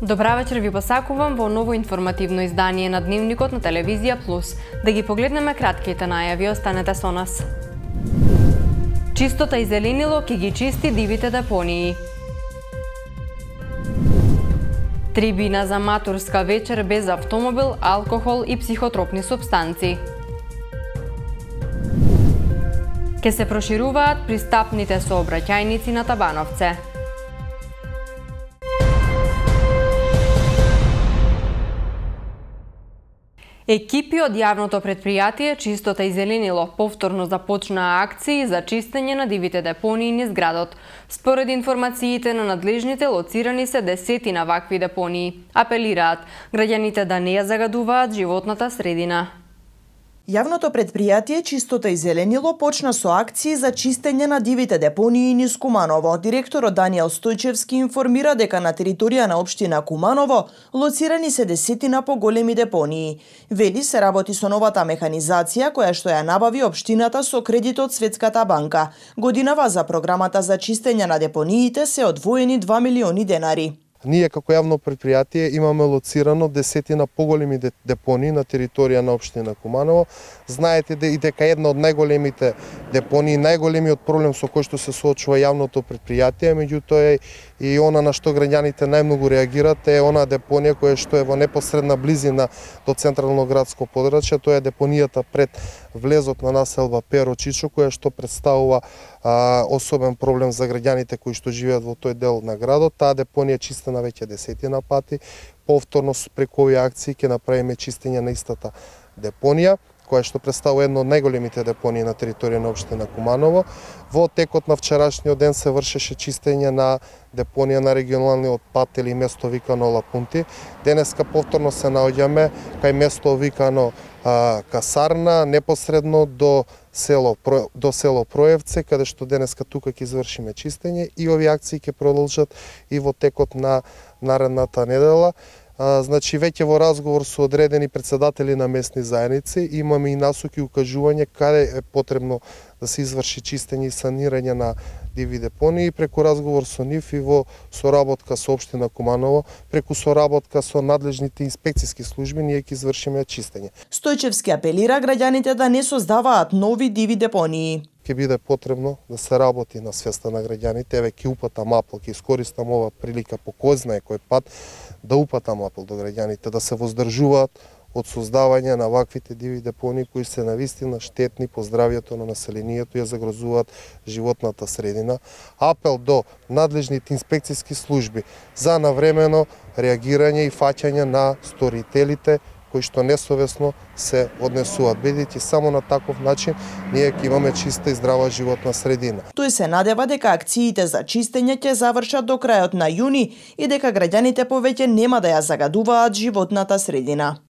Добра вечер ви посакувам во ново информативно издание на Дневникот на Телевизија Плюс. Да ги погледнеме кратките најави, останете со нас. Чистота и зеленило ќе ги чисти дивите депонии. Трибина за матурска вечер без автомобил, алкохол и психотропни супстанци. Ке се прошируваат пристапните сообраќајници на Табановце. Екипи од јавното претпријатие Чистота и зеленило повторно започнаа акции за чистење на дивите депонии низ градот. Според информациите на надлежните, лоцирани се десетина вакви депонии. Апелираат граѓаните да не ја загадуваат животната средина. Јавното претпријатие Чистота и зеленило почна со акции за чистење на дивите депонии низ Куманово. Директорот Даниел Стојчевски информира дека на територија на општина Куманово лоцирани се десетина поголеми депонии. Вели се работи со новата механизација која што ја набави општината со кредит од Светската банка. Годинава за програмата за чистење на депониите се одвоени 2 милиони денари. Ние како јавно претпријатие имаме лоцирано десетина поголеми депонии на територија на општина Куманово. Знаете дека една од најголемите депонии, најголемиот проблем со кој што се соочува јавното претпријатие, меѓутоа и она на што граѓаните најмногу реагираат е она депонија која што е во непосредна близина до централно градско подрачје, тоа е депонијата пред влезот на населба Перо Чичо, која што представува особен проблем за граѓаните кои што живеат во тој дел на градот. Таа депонија е чистена веќе десетина пати. Повторно преку овие акции ќе направиме чистење на истата депонија, која што представува едно од најголемите депонии на територија на општина Куманово. Во текот на вчерашниот ден се вршеше чистење на депонија на регионалниот пат или место викано Лапунти. Денеска повторно се наоѓаме кај место викано Касарна, непосредно до село Проевце, каде што денеска тука ќе извршиме чистење и овие акции ќе продолжат и во текот на наредната недела. Значи, веќе во разговор со одредени председатели на местни заедници имаме и насоки и укажување каде е потребно да се изврши чистење и санирање на диви депонии. Преку разговор со нив и во соработка со општина Куманово, преку соработка со надлежните инспекциски служби, ние ќе извршиме чистење. Стојчевски апелира граѓаните да не создаваат нови диви депонии. Ќе биде потребно да се работи на свеста на граѓаните. Еве ќе упатам апел, ќе искористам ова прилика по кој знае кој пат да упатам апел до граѓаните да се воздржуваат од создавање на ваквите диви депонии кои се навистина штетни по здравјето на населението и ја загрозуваат животната средина. Апел до надлежните инспекциски служби за навремено реагирање и фаќање на сторителите кои што несовесно се однесуваат, бидејќи само на таков начин ние ќе имаме чиста и здрава животна средина. Тој се надева дека акциите за чистење ќе завршат до крајот на јуни и дека граѓаните повеќе нема да ја загадуваат животната средина.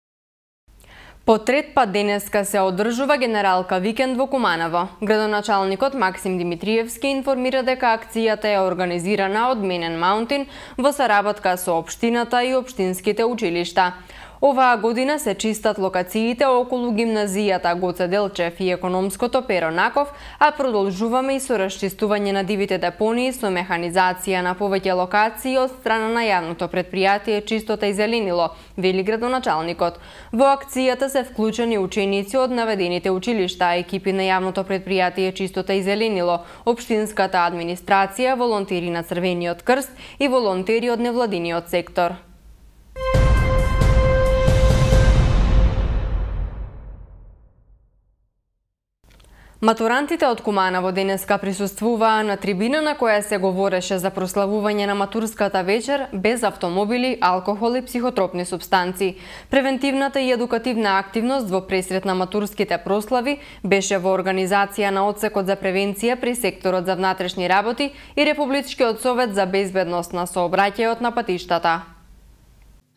По трет пат денеска се одржува генералка викенд во Куманово. Градоначалникот Максим Димитриевски информира дека акцијата е организирана од Менен Маунтин во соработка со општината и општинските училишта. Оваа година се чистат локациите околу гимназијата Гоце Делчев и економското Перо Наков, а продолжуваме и со расчистување на дивите депонии со механизација на повеќе локации од страна на јавното претпријатие Чистота и зеленило, вели градоначалникот. Во акцијата се вклучени ученици од наведените училишта, екипи на јавното претпријатие Чистота и зеленило, општинската администрација, волонтери на Црвениот крст и волонтери од невладиниот сектор. Матурантите од Куманово денеска присуствуваа на трибина на која се говореше за прославување на матурската вечер без автомобили, алкохол и психотропни супстанци. Превентивната и едукативна активност во пресрет на матурските прослави беше во организација на Одсекот за превенција при секторот за внатрешни работи и Републичкиот совет за безбедност на сообраќајот на патиштата.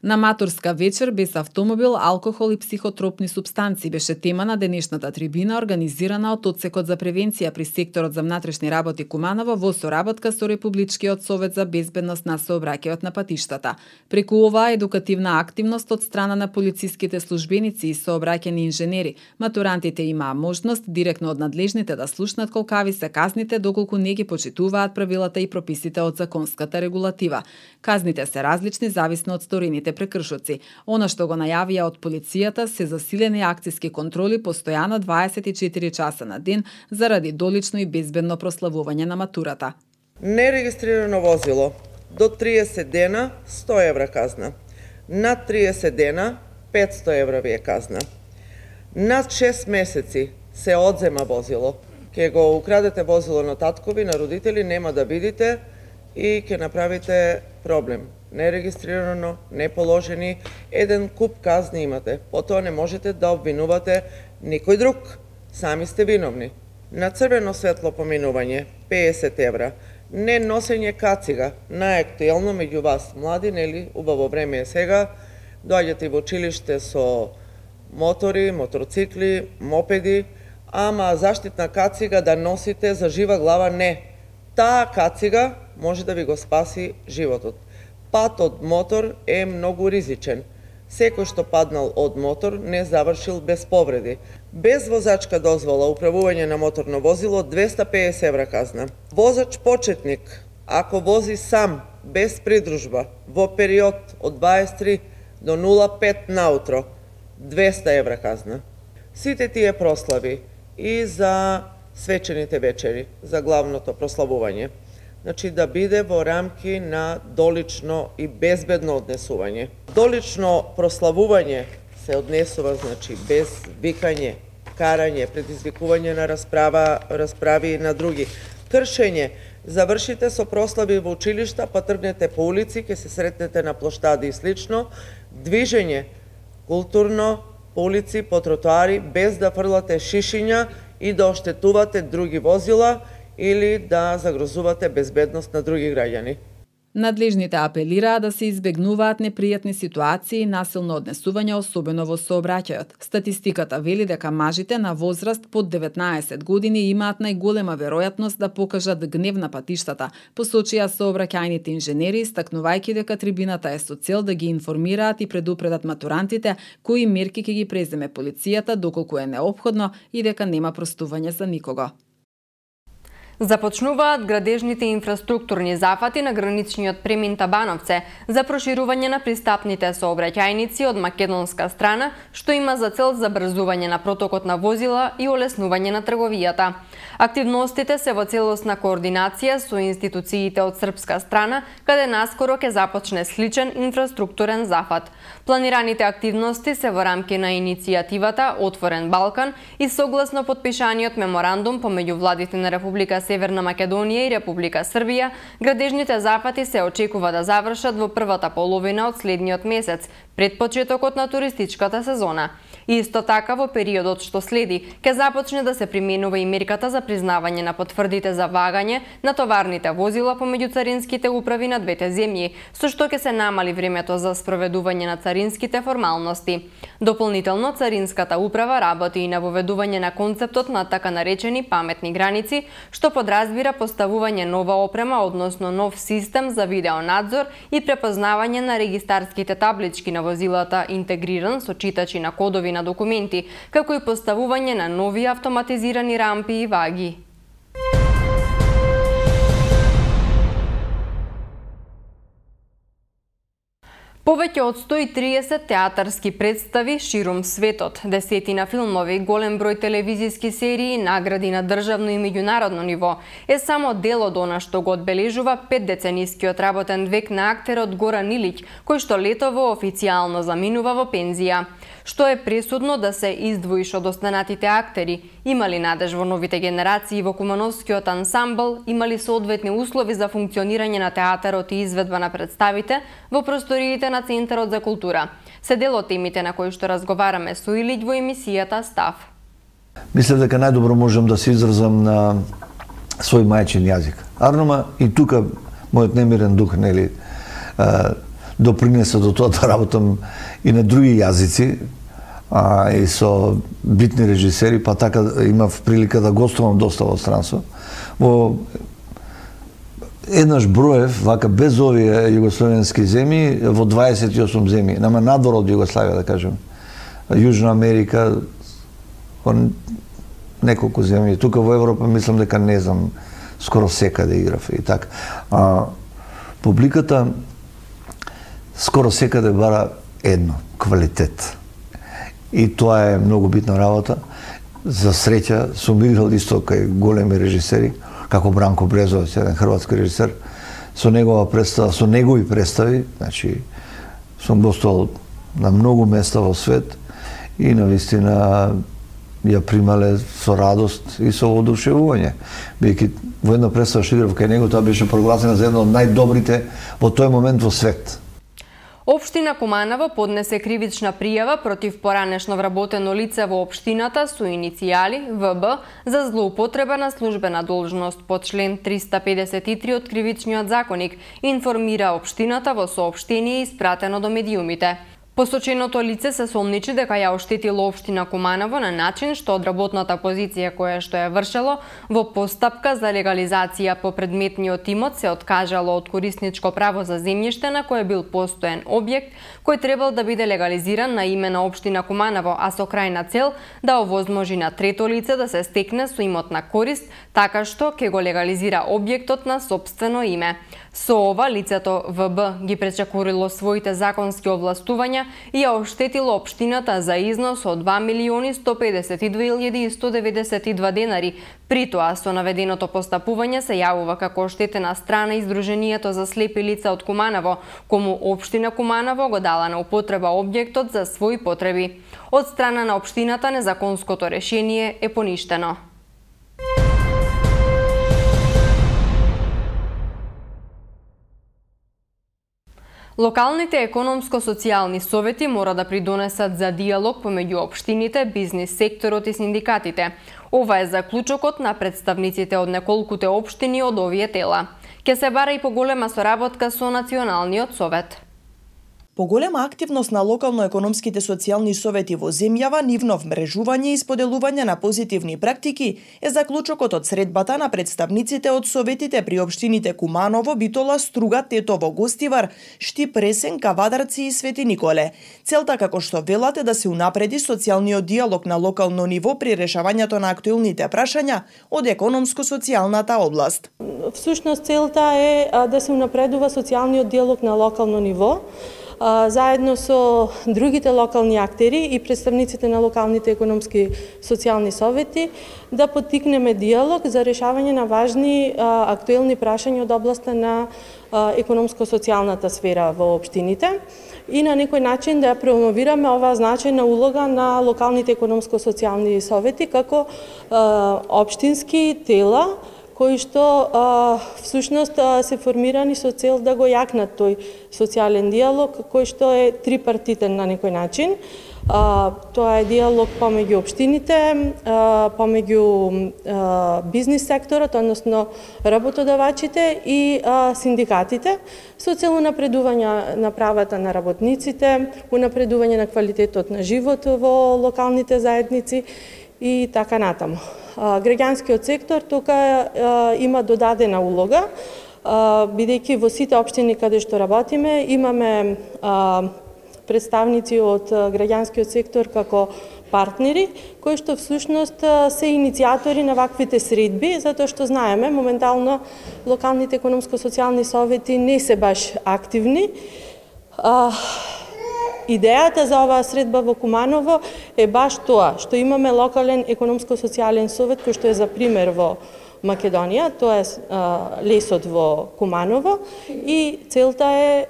На матурска вечер без автомобил, алкохол и психотропни супстанци беше тема на денешната трибина организирана од Одсекот за превенција при секторот за внатрешни работи Куманово во соработка со Републичкиот совет за безбедност на сообраќајот на патиштата. Преку оваа едукативна активност од страна на полициските службеници и сообраќајни инженери, матурантите имаа можност директно од надлежните да слушнат колкави се казните доколку не ги почитуваат правилата и прописите од законската регулатива. Казните се различни зависно од сторените прекршоци. Она што го најавија од полицијата се засилени акциски контроли постојано 24 часа на ден заради долично и безбедно прославување на матурата. Нерегистрирано возило до 30 дена 100 евра казна. Над 30 дена 500 евра ви е казна. Над 6 месеци се одзема возило. Ке го украдете возило на таткови, на родители, нема да видите и ќе направите проблем. Нерегистрирано, неположени, еден куп казни имате. Потоа не можете да обвинувате никој друг. Сами сте виновни. На црвено светло поминување, 50 евра. Не носење кацига, наактуелно меѓу вас, млади, нели, убаво време е сега, доаѓате во училиште со мотори, мотоцикли, мопеди, ама заштитна кацига да носите за жива глава не. Таа кацига може да ви го спаси животот. Пат од мотор е многу ризичен. Секој што паднал од мотор не завршил без повреди. Без возачка дозвола управување на моторно возило 250 евра казна. Возач почетник, ако вози сам, без придружба, во период од 23 до 05 наутро, 200 евра казна. Сите тие прослави и за свечените вечери, за главното прославување, значи да биде во рамки на долично и безбедно однесување. Долично прославување се однесува, значи, без викање, карање, предизвикување на расправи и на други. Кршење, завршите со прослави во училишта, па тргнете по улици, ќе се сретнете на плоштади и слично. Движење, културно, по улици, по тротоари, без да фрлате шишиња и да оштетувате други возила или да загрозувате безбедност на други граѓани. Надлежните апелираа да се избегнуваат непријатни ситуации и насилно однесување, особено во сообраќајот. Статистиката вели дека мажите на возраст под 19 години имаат најголема веројатност да покажат гнев на патиштата, посочија сообраќајните инженери, истакнувајќи дека трибината е со цел да ги информираат и предупредат матурантите кои мерки ќе ги преземе полицијата доколку е неопходно и дека нема простување за никого. Започнуваат градежните инфраструктурни зафати на граничниот премин Табановце за проширување на пристапните сообраќајници од македонска страна, што има за цел забрзување на протокот на возила и олеснување на трговијата. Активностите се во целосна координација со институциите од српска страна, каде наскоро ќе започне сличен инфраструктурен зафат. Планираните активности се во рамки на иницијативата Отворен Балкан и согласно подпишаниот меморандум помеѓу владите на Република Северна Македонија и Република Србија, градежните зафати се очекува да завршат во првата половина од следниот месец, пред почетокот на туристичката сезона. Исто така, во периодот што следи, ќе започне да се применува и мерката за признавање на потврдите за вагање на товарните возила помеѓу царинските управи на двете земји, со што ќе се намали времето за спроведување на царинските формалности. Дополнително, царинската управа работи и на воведување на концептот на така наречени паметни граници, што подразбира поставување нова опрема, односно нов систем за видеонадзор и препознавање на регистарските таблички на возилата, интегриран со читачи на кодови на документи, како и поставување на нови автоматизирани рампи и ваги. Повеќе од 130 театарски представи ширум светот, десетина филмови, голем број телевизиски серии, награди на државно и меѓународно ниво е само дел од она што го одбележува 5-деценискиот работен век на актерот Горан Илиќ, кој што летово официјално заминува во пензија. Што е пресудно да се издвоиш од останатите актери? Има ли надеж во новите генерации во Кумановскиот ансамбл? Има ли соодветни услови за функционирање на театарот и изведба на представите во просториите на Центарот за култура? Се дел од темите на кои што разговараме со Илиќ во емисијата Став. Мислам дека најдобро можам да се изразам на свој мајчин јазик. Арнома и тука мојот немирен дух, нели, допринесе до тоа да работам и на други јазици, и со битни режисери, па така имав прилика да гостувам доста во странство. Во еднаш броев, вака без овие југословенски земји, во 28 земји, нама надвор од Југославија, да кажем. Јужна Америка, неколку земји. Тука во Европа мислам дека не знам, скоро секаде играв и така. Публиката скоро секаде бара едно, квалитет. И тоа е многу битна работа. За среќа сум играл исто кај големи режисери, како Бранко Брезовец, еден хрватски режисер, со негова представа, со негови представи, значи сум гостувал на многу места во свет и навистина ја примале со радост и со одушевување. Бидејќи во една представа што играв кај него, тоа беше прогласена за една од најдобрите во тој момент во свет. Општина Куманово поднесе кривична пријава против поранешно вработено лице во општината со иницијали ВБ за злоупотреба на службена должност по член 353 од Кривичниот законник, информира општината во соопштение испратено до медиумите. Посоченото лице се сомничи дека ја оштетило општина Куманово на начин што од работната позиција која што ја вршело во постапка за легализација по предметниот имот се откажало од корисничко право за земјиште на кое бил постоен објект кој требал да биде легализиран на име на општина Куманово, а со крајна цел да овозможи на трето лице да се стекне со имотна корист, така што ќе го легализира објектот на сопствено име. Со ова лицето ВБ ги пречекорило своите законски овластувања и ја оштетило општината за износ од 2.152.192 денари. При тоа, со наведеното постапување се јавува како оштетена страна Издруженијето за слепи лица од Куманово, кому општина Куманово го дала на употреба објектот за своји потреби. Од страна на општината незаконското решение е поништено. Локалните економско-социјални совети мора да придонесат за диалог помеѓу општините, бизнис секторот и синдикатите. Ова е заклучокот на представниците од неколкуте општини од овие тела. Ке се бара и поголема соработка со Националниот совет. Поголема активност на локално-економските социјални совети во земјава, нивно вмрежување и споделување на позитивни практики е заклучокот од средбата на представниците од советите при општините Куманово, Битола, Струга, Тетово, Гостивар, Штип, Ресен, Кавадарци и Свети Николе. Целта, како што велат, е да се унапреди социјалниот диалог на локално ниво при решавањето на актуелните прашања од економско-социјалната област. Всушност целта е да се унапредува социјалниот диалог на локално ниво, заедно со другите локални актери и представниците на локалните економски социјални совети, да поттикнеме диалог за решавање на важни актуелни прашања од областа на економско-социјалната сфера во општините и на некој начин да ја промовираме оваа значајна улога на локалните економско-социјални совети како општински тела кои што всушност се формирани со цел да го јакнат тој социјален диалог, кој што е трипартитен на некој начин. Тоа е диалог помеѓу општините, помеѓу бизнис секторот, односно работодавачите и синдикатите, со цел унапредување на правата на работниците, унапредување на квалитетот на живот во локалните заедници и така натаму. Граѓанскиот сектор тука има додадена улога, бидејќи во сите општини каде што работиме имаме представници од граѓанскиот сектор како партнери, кои што всушност се иницијатори на ваквите средби, затоа што знаеме, моментално локалните економско-социјални совети не се баш активни. Идејата за оваа средба во Куманово е баш тоа, што имаме локален економско-социјален совет кој што е за пример во Македонија, тоа е лесот во Куманово и целта е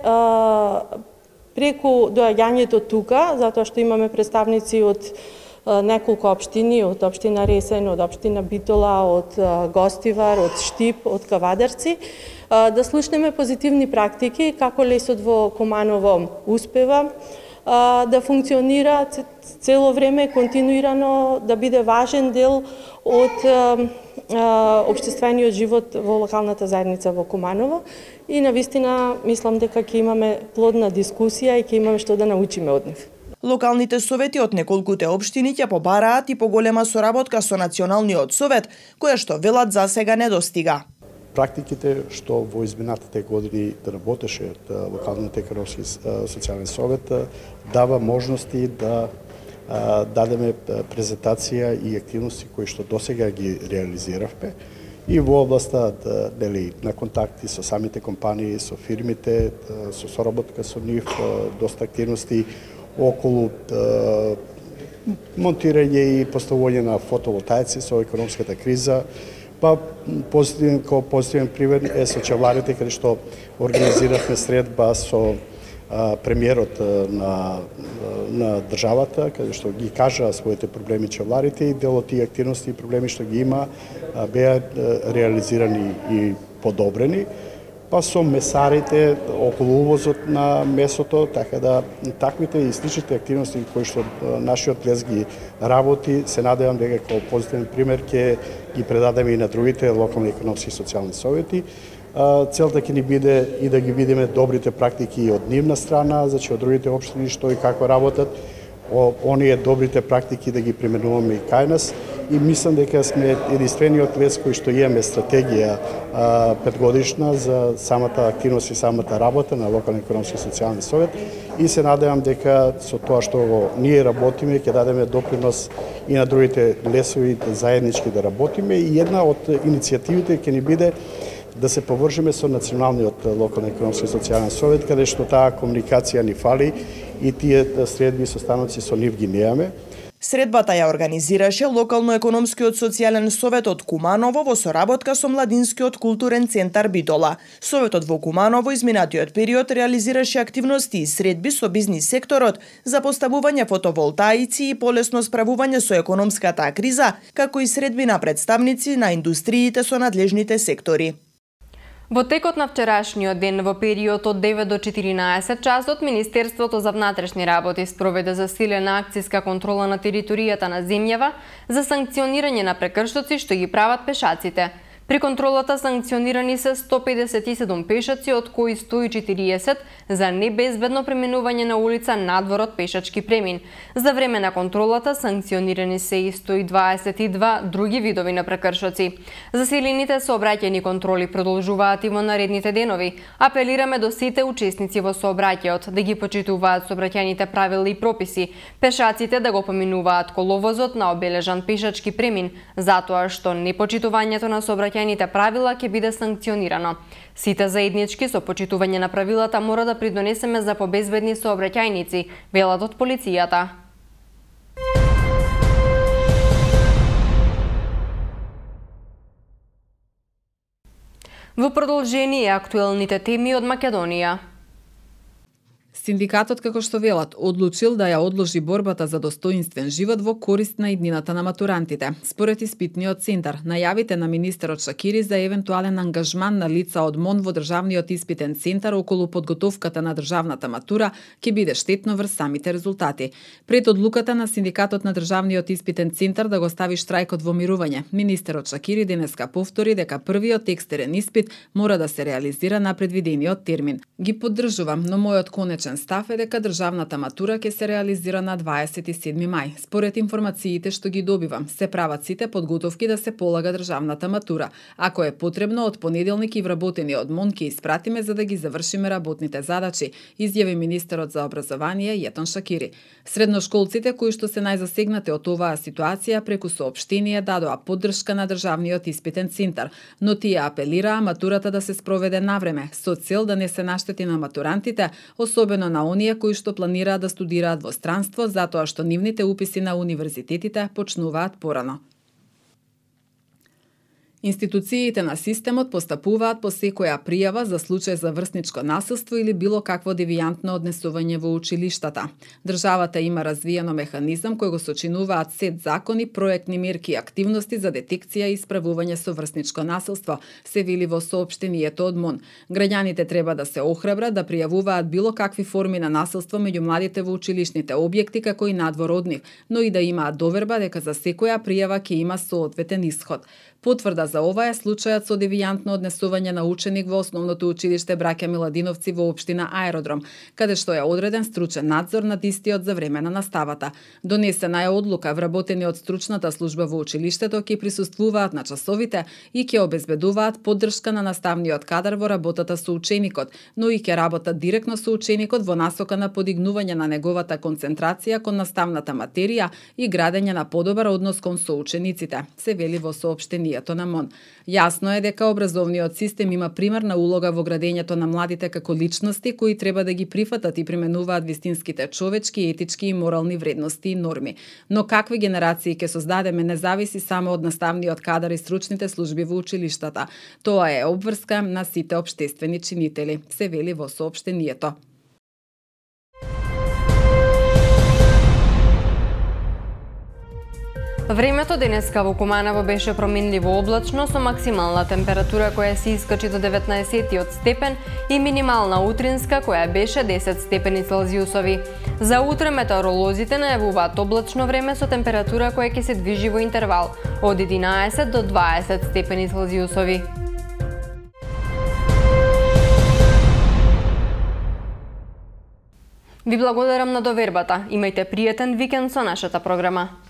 преку доаѓањето тука, затоа што имаме представници од неколку општини, од општина Ресен, од општина Битола, од Гостивар, од Штип, од Кавадарци, да слушнеме позитивни практики како лесот во Куманово успева да функционира цело време, континуирано, да биде важен дел од општествениот живот во локалната заедница во Куманово и навистина мислам дека ќе имаме плодна дискусија и ќе имаме што да научиме од нив. Локалните совети од неколкуте општини ќе побараат и поголема соработка со Националниот совет, која што велат за сега не достига. Практиките што во изминатите години работеше од локалниот економски социјален совет дава можности да дадеме презентација и активности кои што досега ги реализиравме и во областа на контакти со самите компании, со фирмите, со соработка со нив, доста активности околу монтирање и поставување на фотоволтаици со економската криза. Па позитивен пример е со чевларите, каде што организиравме средба со премиерот на државата, каде што ги кажа своите проблеми чевларите и дел од тие активности и проблеми што ги има беа реализирани и подобрени. Па со месарите околу увозот на месото, така да таквите и сличните активности кои што нашиот лес ги работи, се надевам дека како позитивен пример ќе ги предадеме и на другите локални економски и социјални совети. Целта ќе ни биде и да ги видиме добрите практики од нивна страна, значи од другите општини што и како работат, оние добрите практики да ги применуваме и кај нас. И мислам дека сме единствениот лес кој што имаме стратегија 5-годишна за самата активност и самата работа на локален економски и социјален совет и се надевам дека со тоа што ние работиме ќе дадеме допринос и на другите лесови заеднички да работиме и една од иницијативите ќе ни биде да се повржиме со Националниот локален економски и социјален совет, каде што таа комуникација ни фали и тие средби и состаноци со нив ги неаме. Средбата ја организираше Локално-економскиот социјален совет од Куманово во соработка со Младинскиот културен центар Битола. Советот во Куманово изминатиот период реализираше активности и средби со бизнис секторот за поставување фотоволтаици и полесно справување со економската криза, како и средби на представници на индустриите со надлежните сектори. Во текот на вчерашниот ден во период од 9 до 14 часот Министерството за внатрешни работи спроведе засилена акцијска контрола на територијата на земјава за санкционирање на прекршоци што ги прават пешаците. При контролата санкционирани се 157 пешаци, од кои 140 за небезбедно преминување на улица надвор од пешачки премин. За време на контролата санкционирани се и 122 други видови на прекршоци. Засилените сообраќајни контроли продолжуваат и во наредните денови. Апелираме до сите учесници во сообраќајот да ги почитуваат сообраќајните правила и прописи, пешаците да го поминуваат коловозот на обележан пешачки премин, затоа што непочитувањето на сообраќајните правила ќе биде санкционирано. Сите заеднички со почитување на правилата мора да придонесеме за побезбедни сообраќајници, велат од полицијата. Во продолжение актуелните теми од Македонија. Синдикатот, како што велат, одлучил да ја одложи борбата за достоинствен живот во корист на иднината на матурантите. Според испитниот центар, најавите на министерот Шакири за евентуален ангажман на лица од МОН во државниот испитен центар околу подготовката на државната матура ќе биде штетно врз самите резултати. Пред одлуката на синдикатот на државниот испитен центар да го стави штрајкот во мирување, министерот Шакири денеска повтори дека првиот екстерен испит мора да се реализира на предвидениот термин. Ги поддржувам, но мојот конечен став е дека државната матура ќе се реализира на 27 мај. Според информациите што ги добивам, се прават сите подготовки да се полага државната матура. Ако е потребно, од понеделник и вработени од МОН ќе испратиме за да ги завршиме работните задачи, изјави министерот за образование Јетон Шакири. Средношколците кои што се најзасегнати од оваа ситуација преку соопштение дадоа поддршка на државниот испитен центар, но тие апелираа матурата да се спроведе навреме со цел да не се наштети на матурантите, особено на оние кои што планираат да студираат во странство затоа што нивните уписи на универзитетите почнуваат порано. Институциите на системот постапуваат по секоја пријава за случај за врсничко насилство или било какво девијантно однесување во училиштата. Државата има развиено механизам кој го сочинуваат сет закони, проектни мерки и активности за детекција и исправување со врсничко насилство, се вели во соопштението од МОН. Граѓаните треба да се охрабрат да пријавуваат било какви форми на насилство меѓу младите во училишните објекти како и надвор од нив, но и да имаат доверба дека за секоја пријава ќе има соодветен исход. Потврда за ова е случајот со девијантно однесување на ученик во основното училиште Браќа Миладиновци во општина Аеродром, каде што е одреден стручен надзор над истиот за време на наставата. Донесена е одлука вработени од стручната служба во училиштето ќе присуствуваат на часовите и ќе обезбедуваат поддршка на наставниот кадар во работата со ученикот, но и ќе работат директно со ученикот во насока на подигнување на неговата концентрација кон наставната материја и градење на подобар однос кон соучениците, се вели во соопштението на МОН. Јасно е дека образовниот систем има примерна улога во градењето на младите како личности кои треба да ги прифатат и применуваат вистинските човечки, етички и морални вредности и норми. Но какви генерации ќе создадеме не зависи само од наставниот кадар и стручните служби во училиштата. Тоа е обврска на сите општествени чинители, се вели во соопштението. Времето денеска во Куманово беше променливо облачно со максимална температура која се искачи до 19 степен и минимална утринска која беше 10 степени Целзиусови. За утре метеоролозите најавуваат облачно време со температура која ќе се движи во интервал од 11 до 20 степени Целзиусови. Ви благодарам на довербата. Имајте пријатен викенд со нашата програма.